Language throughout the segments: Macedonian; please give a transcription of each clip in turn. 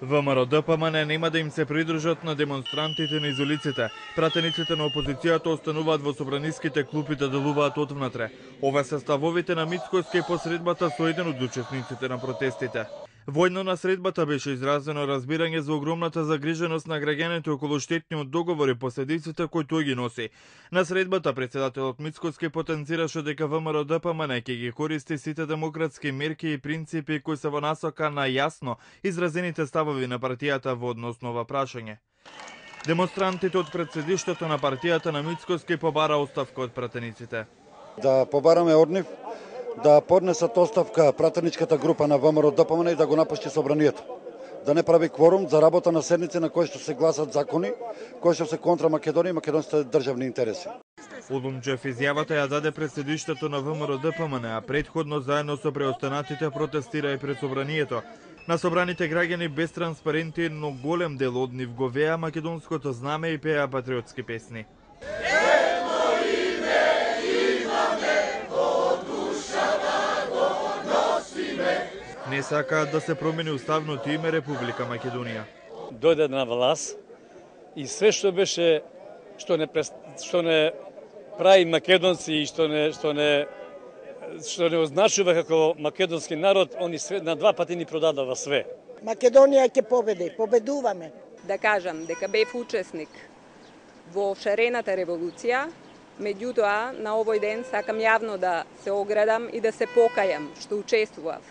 ВМРО-ДПМН нема да им се придружат на демонстрантите низ улиците. Пратениците на опозицијата остануваат во собраниските клупи да делуваат отвнатре. Ова се ставовите на Мицкоска и посредбата со еден од учесниците на протестите. Војно на средбата беше изразено разбирање за огромната загриженост на граѓаните околу штетниот договор и последиците кои тој ги носи. На средбата председателот Мицкоски потенцираше дека ВМРО-ДПМН ќе ги користи сите демократски мерки и принципи кои се во насока на јасно изразените ставови на партијата во однос на ова прашање. Демонстрантите од претседиштето на партијата на Мицкоски побара оставка од пратениците. Да побараме од нив да поднесат оставка пратеничката група на ВМРО-ДПМН и да го напушти собранието. Да не прави кворум за работа на седници на кои што се гласат закони, кои што се контра Македонија и македонските државни интереси. Улумџев изјавата ја даде претседиштето на ВМРО-ДПМН, а претходно заедно со преостанатите протестира и пред собранието. На собраните граѓани без транспаренти, но голем дел од нив го веа македонското знаме и пеа патриотски песни. Не сакаат да се промени уставното име Република Македонија. Дојде на власт и све што беше што не прави македонци и што не означува како македонски народ, они све на два пати ни продадува све. Македонија ќе победи, победуваме. Да кажам дека бев учесник во шарената револуција, меѓутоа на овој ден сакам јавно да се оградам и да се покајам што учествував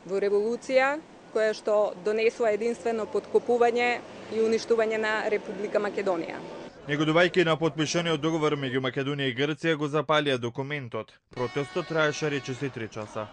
во револуција која што донесува единствено подкопување и уништување на Република Македонија. Негодувајќи на потпишаниот договор меѓу Македонија и Грција го запалија документот. Протестот траеше речиси 3 часа.